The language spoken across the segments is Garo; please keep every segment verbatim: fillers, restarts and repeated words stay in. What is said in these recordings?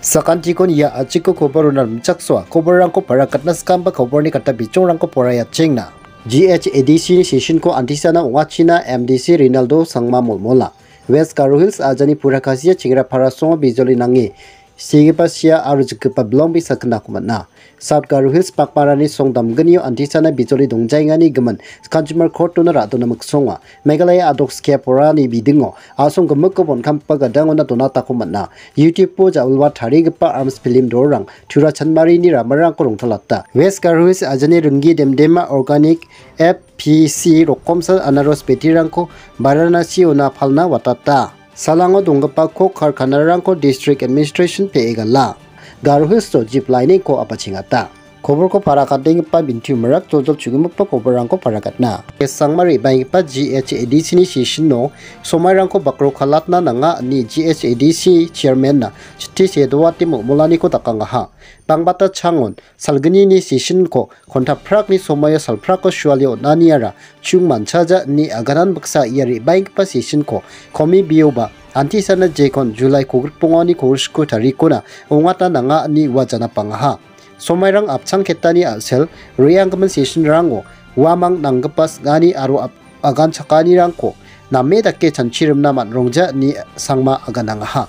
Sakantikon ia a·chiko koborona rimchaksoa. Koborrangko parakatna skamba koborni kata bichongrangko poraiatchengna. G H A D C ni session-ko antisana ong·achina M D C Rinaldo Sangma molmola. West Garo Hills ajani pura kasia chengrapara songo bijoli nange segipa sia aro jikgipa bilongbe sakgnako man·a. South Garo Hills pakmarani song damgnio antisana bijoli dongjaengani gimin Consumer Court-ona ra·dona miksonga. Meghalaya adok skia porani bidingo a·song gimikko bonkamgipa gadangona donatako man·a. YouTube-o ja·wilwa tarigipa arms film dolrang Tura Chanmarini ramarangko rongtalata. West Garo Hills ajani ringgi demdema organic F P C rokomsa anaros betirangko Varanasi-ona palna watata. Salango donggipa kok karkanarangko District Administration pe·e gala. Garo Hills-o jip lainingko apachengata. Koborko parakatenggipa Bintiu Marak joljol chugimikpa koborrangko parakatna. Sangma re·baenggipa G H A D C ni session-o somairangko bakrokalatna nanga ine G H A D C chairman-na chitti sedoate molmolaniko dakangaha. Bangbata changon salgnini session-ko kontaprakni somaio salprako suale on·aniara chung manchaja ine aganan baksa ia re·baenggipa session-ko komi bioba antisana jekon July kogrikbongani kogrisko tarikona ong·atna nanga ine ua janapangaha. Somairang apchangketani a·sel re·anggimin session-rango uamang nanggipa sing·ani aro ap-, aganchakanirangko name dake chanchirimna man·rongja ine Sangma aganangaha.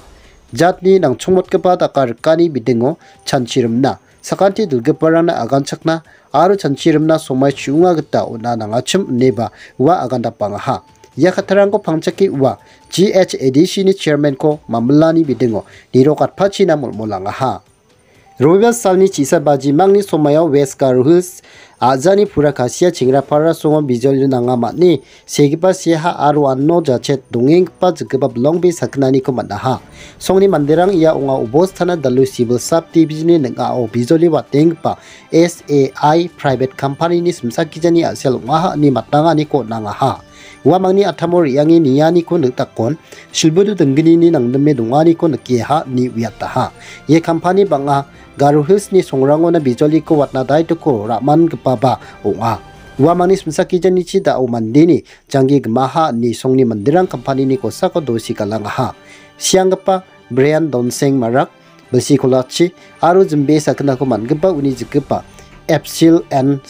Jatni nangchongmotgipa daka rikani bidingo chanchirimna, sakanti dilgiparangna aganchakna aro chanchirimna somai chu·onga gita on·a nangachim ineba ua agandapangaha. Ia kattarangko pangchake ua G H A D C ni chairman-ko mamilani bidingo nirok atpachina molmolangaha. Robiba salni chisa baji mangni somaio West Garo Hills a·jani pura kasia chengrapara songo bijoli nanga man·e segipa seha aro ano jachet dongenggipa jikgipa bilongbe sakgnaniko man·aha. Songni manderang ia ong·a Obostana Dalu Civil Sub Division-ni ning·ao bijoli watenggipa S A I private company-ni simsakgijani a·sel ong·aha ine matanganiko on·angaha. Uamangni a·tamo re·ange nianiko nikdakon, silbudu dinggnini nangdime donganiko nikenga ine uiataha. Ia company bang·a Garo Hills-ni songrangona bijoliko watna daitoko ra·mangipaba ong·a. Uamangni simsakgijanichi da·o mandeni janggi gimaha ine songni manderang company-ni kosako dosi galangaha. Sianggipa Brian Donseng Marak, bilsi kolachi aro jimbe sakgnako man·gipa uni jikgipa Epsil N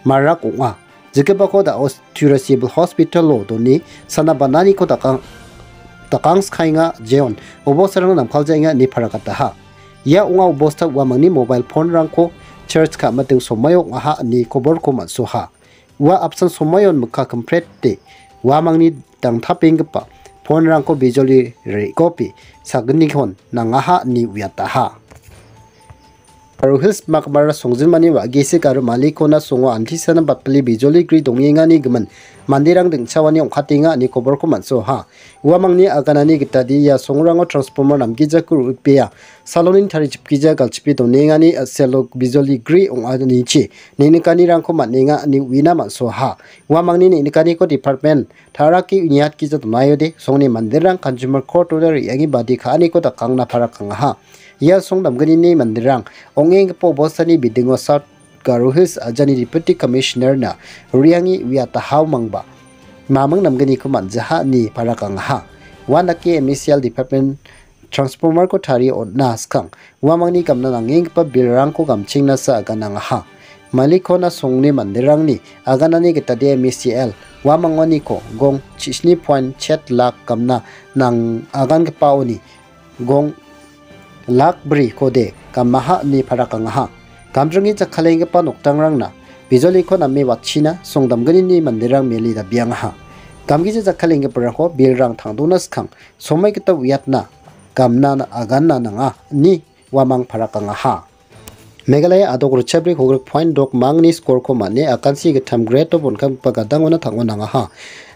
Marak ong·a. Jikgipako da·o Tura Civil Hospital-o done sana bananiko dakang-, dakangskaenga jeon obostarangna namkaljaenga ine parakataha. Ia ong·a obosta uamangni mobile phone-rangko charge ka·miting somaio ong·aha ine koborko man·soha. Ua apsan somaion mikka kimprete uamangni dangtapenggipa phone-rangko bijoli re·gope saginikon nangaha ine uiataha. Garo Hills makmara songjinmani wa·gesik aro malikona songo antisana batpile bijoli gri dongengani gimin manderang dingchaoani ong·katenga ine koborko man·soha. Uamangni aganani gitade ia songrango transformer namgijako ro·ripea. Saloni tarichipgija galchipe donengani a·selo bijoli gri ong·anichi neng·nikanirangko man·enga ine uina man·soha. Uamangni neng·nikaniko department tarake uniatgija donaiode songni manderang Consumer Court-ona re·ange badi ka·aniko dakangna parakangaha. Ia song damgnini manderang ong·enggipa obostani bidingo South Garo Hills ajani Deputy Commissioner-na re·ange uiatahao mangba maming namgniko man·jaha ine parakangaha. Uandake M E C L Department transformer-ko tarie on·na skang uamangni gamna nangenggipa bill-rangko gamchengnasa aganangaha. Malikona songni manderangni aganani gitade M E C L uamangoniko gong chisni point chet lak gamna nang-, agangipaoni gong lak brikode gamaha ine parakangaha. Gamdringi jakkalenggipa nokdangrangna bijoliko name watchina song damgnini manderang mele dabiangaha. Gamgija jakkalenggiparangko bill-rang tangdona skang somai gita uiatna gamna aganna nanga ine uamang parakangaha. Meghalaya adok ritchabri kogrik point dok mangni skorko man·e akansi gittam grade-o bonkamgipa gadangona tang·o nangaha.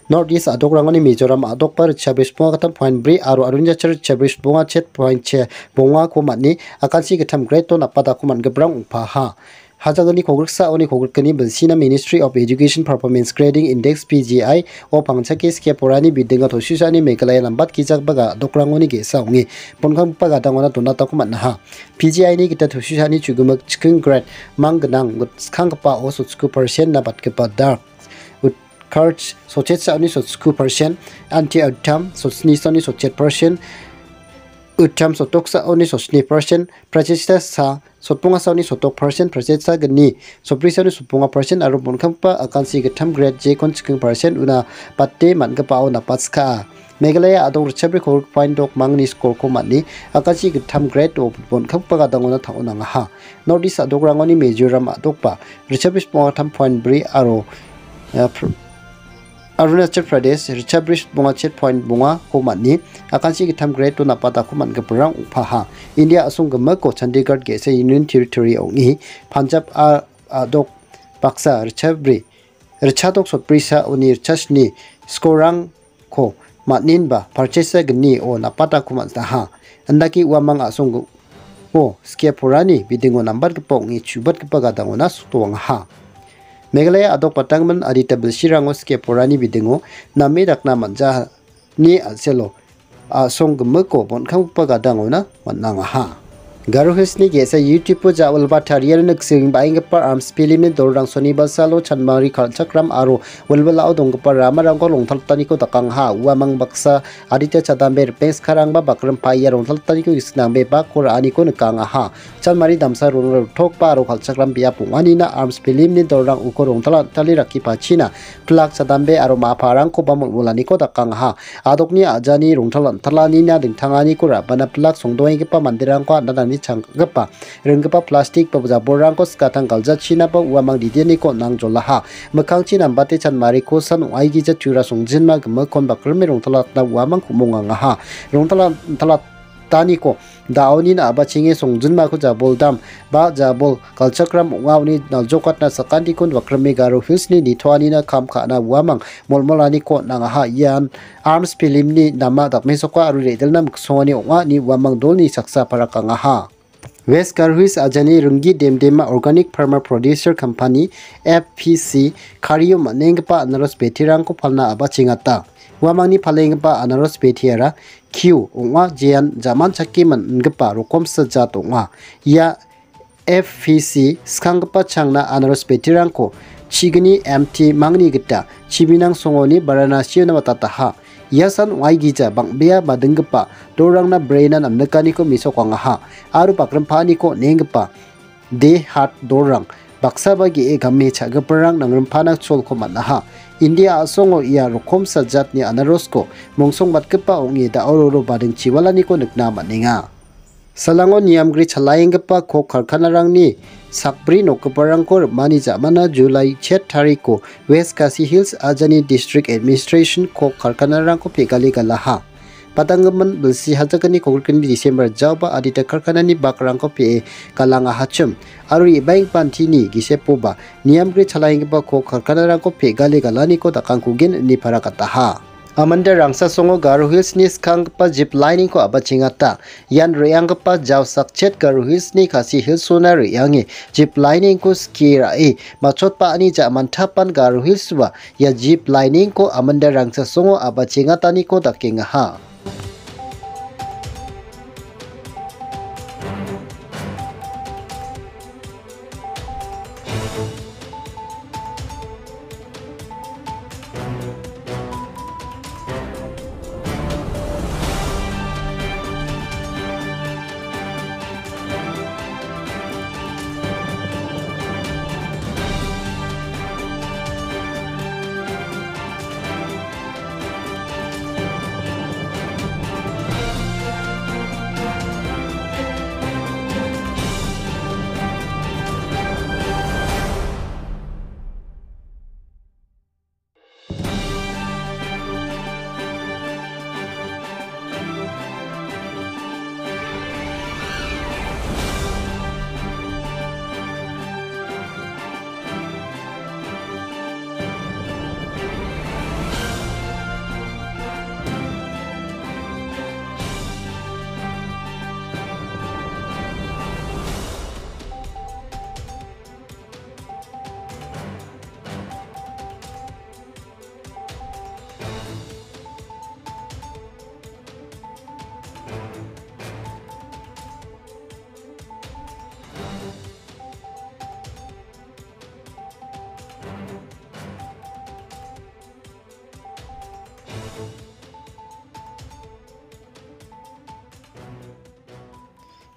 North East adokrangoni Mizoram adokba ritchabri sponga gittam point bri aro Arunachal ritchabri sponga chet point che bongako man·e akansi gittam grade-o napadako man·giparang ong·paha. Hajagni kogriksaoni kogrikgni bilsina Ministry of Education Performance Grading Index, P G I, o pangchake skie porani bidinga tosisani Meghalaya nambatgijagipa ga-, adokrangoni ge·sa ong·e, bonkamgipa gadangona donatako man·aha. P G I-ni gita tosisani chugimik chiking grade mang gnang skanggipa o sotsko percent-na batgipa dark, Utkarsh sotchetsaoni sotsko percent, Anti Uttam sotchetsaoni sotchet percent, Uttam sotoksaoni sosni persen, prachesta sa, sotpongasaoni sotok persen, prachesta gni, soprisaoni sotponga persen, aro bonkamgipa akansi gittam grade jekon chiking persen una bate man·gipao napatska. Meghalaya a·dok ritchabri kolgrik point dok mangni skorko man·e, akansi gittam grade o bonkamgipa gadangona tang·o nangaha. North East a·dokrangoni Mizoram a·dokba ritchabri sponga tam point bri aro, eh, pr-, Arunachal Pradesh ritchabri sponga chet point bongako man·e, akansi gittam grade o napatako man·giparang ong·paha. India a·song gimiko Chandigarh ge·sa Union Territory ong·e, Punjab a-, a·dok baksa ritchabri, ritchadok sotbrisa uni ritchasni skorang ko man·enba parchesa gni o napatako man·aha. Indake uamang a·song o skie porani bidingo nambatgipa ong·e chubatgipa gadangona sotoangaha. Meghalaya a·dok batanggimin adita bilsirango skie porani bidingo name dakna man·jani a·selo a·song gimiko bonkamgipa gadangona man·angaha. Garo Hillsni ge·sa YouTube-o ja·wilba tariani nikseng baenggipa arms film-ni dolrang sonibalsalo chanmari kal·chakram aro wilwilao donggipa ramarangko rongtaltaniko dakangaha. Uamang baksa adita chadambe ripeng skarangba bakrimpa ia rongtaltaniko gisik nangbe bakko ra·aniko nikangaha. Chanmari damsa rongrotokba aro kal·chakram biap ong·anina arms film-ni dolrang uko rongtal-, antali rakipachina pilak chadambe aro ma·parangkoba molmolaniko dakangaha. A·dokni a·jani rongtal-, antalanina dingtanganiko ra·bana pilak songdoenggipa manderangko an·tangtangni changgipa ringgipa plastik ba jabolrangko skatang galjachinaba uamang didianiko on·ang jolaha. Mikkangchi nambate chanmariko san ong·aigija tura songjinma gimikkon bakrime rongtalatna uamang ku·mongangaha. Rongtalat-, talat-, taniko da·onin a·bachenge songjinmako jaboldam ba jabol galchakram ong·a, uni naljokatna sakantikon bakrime Garo Hillsni nitoanina kam ka·na uamang molmolaniko on·angaha. Ian arms film-ni nama dakmesoka aro re·dilna miksongani ong·a ine uamang dolni saksa parakangaha. West Garo Hills ajani ringgi demdema Organic Farmer Producer Company, F P C, kario man·enggipa anaros betirangko palna a·bachengata. Uamangni palenggipa anaros betiara Q ong·a, jean jaman chake man·gipa rokomsa jat ong·a. Ia F P C skanggipa changna anaros betirangko chigni M T mangni gita chibinang songoni Varanasi-ona watataha. Ia san ong·aigija bang·bea madinggipa dolrangna brena namnikaniko mesokangaha aro bakrimpaaniko on·enggipa de hat dolrang baksaba ge·e game cha·giparang nangrimpana cholko man·aha. India a·songo ia rokomsa jatni anarosko mongsongbatgipa ong·e da·o roro bading chiwalaniko nikna man·enga. Salango niamgri chalaenggipa kok karkanarangni sakbri nokgiparangko rim·ani ja·mana July chet tariko West Khasi Hills ajani District Administration kok karkanarangko pegale galaha. Padanggimin bilsi hajakgni kogrikni December jaoba adita karkanani bakrangko pe·e galangahachim aro re·baenggipa antini gisepoba niamgri chalaenggipa kok karkanarangko pegale galaniko dakangkugen ine parakataha. Amanda Rangsasongo Garo Hillsni skanggipa zip lining-ko a·bachengata. Ian re·anggipa jaosakchet Garo Hillsni Khasi Hillsona re·ange zip lining-ko skie ra·e matchotba·ani ja·mantapan Garo Hillsba ia zip lining-ko Amanda Rangsasongo a·bachengataniko dakengaha.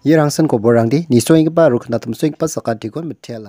Ia rangsin koborrangde nisoenggipa aro knatimsoenggipa sakantikon mitela.